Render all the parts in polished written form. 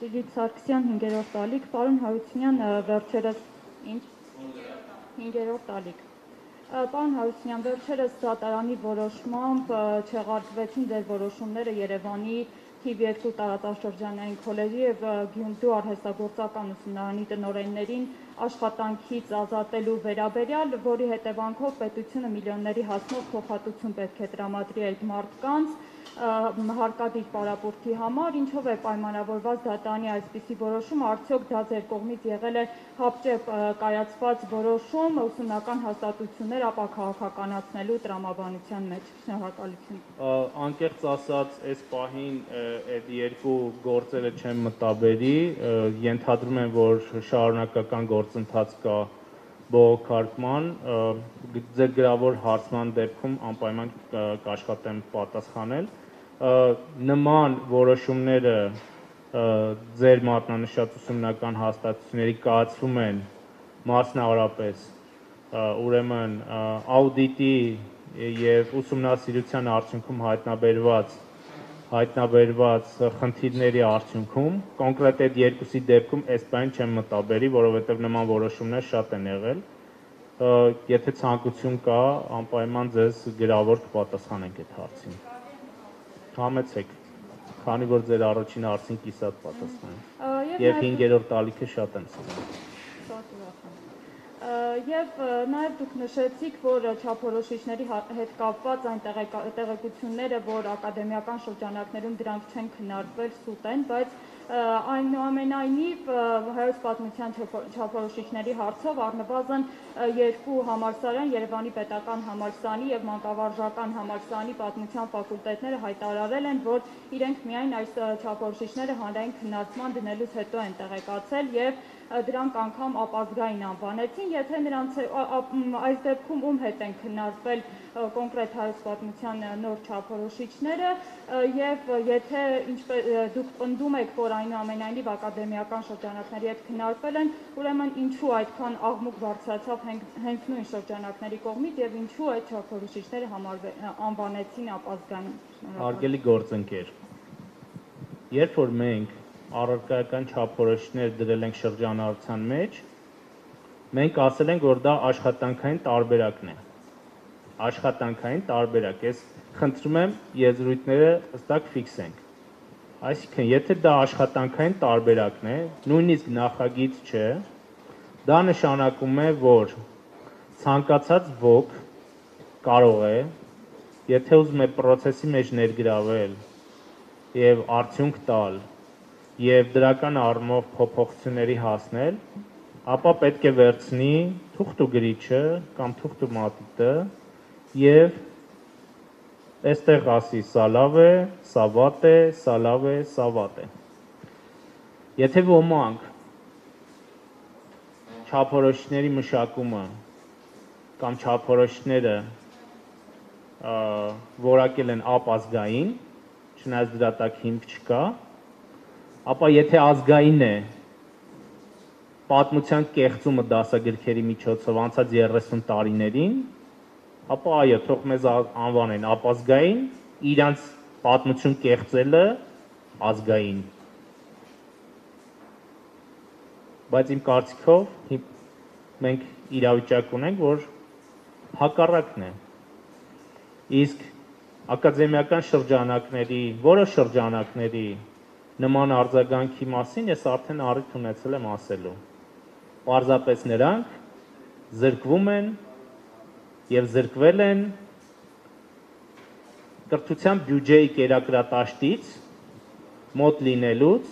Լիլիթ Սարգսյան 5-րդ տալիք, պարոն Հարությունյան վերջերս ինչ 5-րդ տալիք։ Պարոն Հարությունյան, վերջերս դատարանի որոշմամբ չեղարկվեցին ձեր որոշումները Երևանի թիվ 2 տարածաշրջանային քոլեջի և Գյումրու արհեստագործական ուսումնարանի տնօրեններին աշխատանքից ազատելու վերաբերյալ, որի հետևանքով պետությունը միլիոնների հասնող փոխհատուցում պետք է տրամադրի այդ մարդկանց հարկադիր պարապորտի համար, ինչով է պայմանավորված դատարանի այսպիսի որոշումը, արդյոք դա ձեր կողմից եղել է հապճեպ կայացված որոշում ուսումնական հաստատություններ ապա քաղաքականացնելու տրամաբանության մեջ։ Շնորհակալություն։ Անկեղծ ասած, այս պահին այդ երկու գործերը չեմ մտաբերի, ենթադրում եմ, որ շարունակական գործընթաց կա բողոքարկման, ձեր գրավոր հարցման դեպքում անպայման կաշխատեմ պատասխանել։ Նման որոշումները ձեր մատնանշած ուսումնական հաստատությունների կայացվում են մասնավորապես ուրեմն աուդիտի եւ ուսումնասիրության արդյունքում հայտնաբերված խնդիրների արդյունքում, կոնկրետ այդ երկուսի դեպքում այս բան չեմ մտաբերի, որովհետեւ նման որոշումներ շատ են եղել։ Եթե ցանկություն կա, անպայման ձեզ գրավոր կպատասխանենք այդ հարցին։ Համեցեք, քանի որ ձեր առաջին հարցին կիսատ պատասխանեմ։ Եվ 5-րդ տալիքը շատ եմ սիրում։ Եվ նաև դուք նշեցիք, որ չափորոշիչների հետ կապված այն տեղեկությունները, որ ակադեմիական շրջանակներում դրանք չեն քննարկվել, սուտ են, բայց այնուամենայնիվ հայոց պատմության չափորոշիչների հարցով առնվազն 2 համալսարան, Երևանի պետական համալսարանի և մանկավարժական համալսարանի պատմության ֆակուլտետները հայտարարել են, որ իրենք միայն այս չափորոշիչները հանրային քննարկման դնելուց հետո են տեղեկացել և դրանք անգամ ապազգային անվանեցին, եթե նրանց այս դեպքում ում հետ են քննարկվել կոնկրետ հայոց պատմության նոր չափորոշիչները և եթե դուք պնդում եք, որ այնուամենայնիվ ակադեմիական շրջանակների հետ քննարկվել են, ուրեմն ինչու այդքան աղմուկ բարձրացավ հենց նույն շրջանակների կողմից և ինչու այդ չափորոշիչները անվանեցին ապազգային։ Հարգելի գործընկեր, երբ որ մենք առարկայական չափորոշիչներ դրել ենք շրջանառության մեջ, մենք ասել ենք, որ դա աշխատանքային տարբերակն է։ Աշխատանքային տարբերակ, ես խնդրում եմ եզրույթները հստակ ֆիքսենք։ Այսինքն, եթե դա աշխատանքային տարբերակն է, նույնիսկ նախագիծ չէ, դա նշանակում է, որ ցանկացած ոք կարող է, եթե ուզում է process-ի մեջ ներգրավել եւ արդյունք տալ եւ դրական առումով փոփոխությունների հասնել, ապա պետք է վերցնի թուղթ ու գրիչը կամ թուղթ ու մատիտը եւ այստեղ ասի սա լավ է, սա վատ է, սա լավ է, սա վատ է։ Եթե ոմանք չափորոշիչների մշակումը կամ չափորոշիչները որակել են ապազգային, չնայած դրա տակ հիմք չկա, ապա եթե ազգային է պատմության կեղծումը դասագրքերի միջոցով անցած 30 տարիներին, ապա այո, թող մեզ անվանեն ապազգային, իրանց պատմություն կեղծելը ազգային։ Բայց իմ կարծիքով մենք իրավիճակ ունենք, որ հակառակն է։ Իսկ ակադեմիական շրջանակների, որոշ շրջանակների նման արձագանքի մասին ես արդեն առիթ ունեցել եմ ասելու։ Պարզապես նրանք զրկվում են եւ զրկվել են կրթության բյուջեի կերակրատաշտից մոտ լինելուց,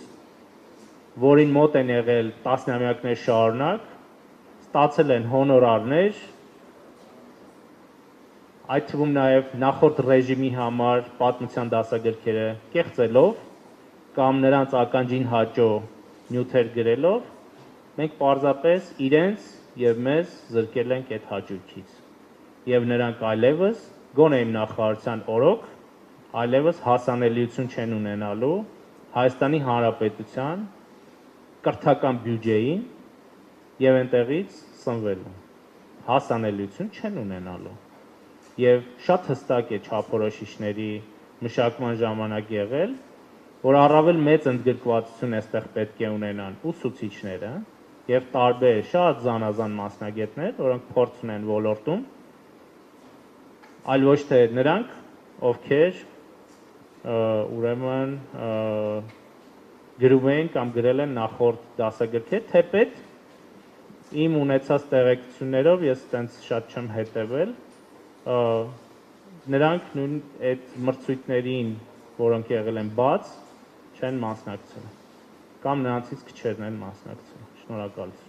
որին մոտ են եղել տասնամյակներ շարունակ, ստացել են հոնորարներ, այդ թվում նաեւ նախորդ ռեժիմի համար պատմության դասագրքերը կեղծելով կամ նրանց ականջին հաճո նյութեր գրելով, մենք պարզապես իրենց եւ մեզ զրկել ենք այդ հաճույքից։ Եվ նրանք այլևս գոնե իմ նախարարության օրոք այլևս հասանելիություն չեն ունենալու Հայաստանի Հանրապետության կրթական բյուջեին եւ այնտեղից սնվելու։ Հասանելիություն չեն ունենալու։ Եվ շատ հստակ է չափորոշիչների մշակման ժամանակ եղել, որ առավել մեծ ընդգրկվածություն այստեղ պետք է ունենան ուսուցիչները եւ տարբեր շատ զանազան մասնագետներ, որոնք փորձ ունեն ոլորտում, այլ ոչ թե նրանք, ովքեր ուրեմն գրում են կամ գրել են նախորդ դասագրքեր, թեպետ իմ ունեցած տեղեկություններով ես այտենց շատ չեմ հետևել, նրանք նույն այդ մրցույթներին, որոնք եղել են բաց, չեն մասնակցել, կամ նրանցից քչերն են մասնակցել։ Շնորհակալություն։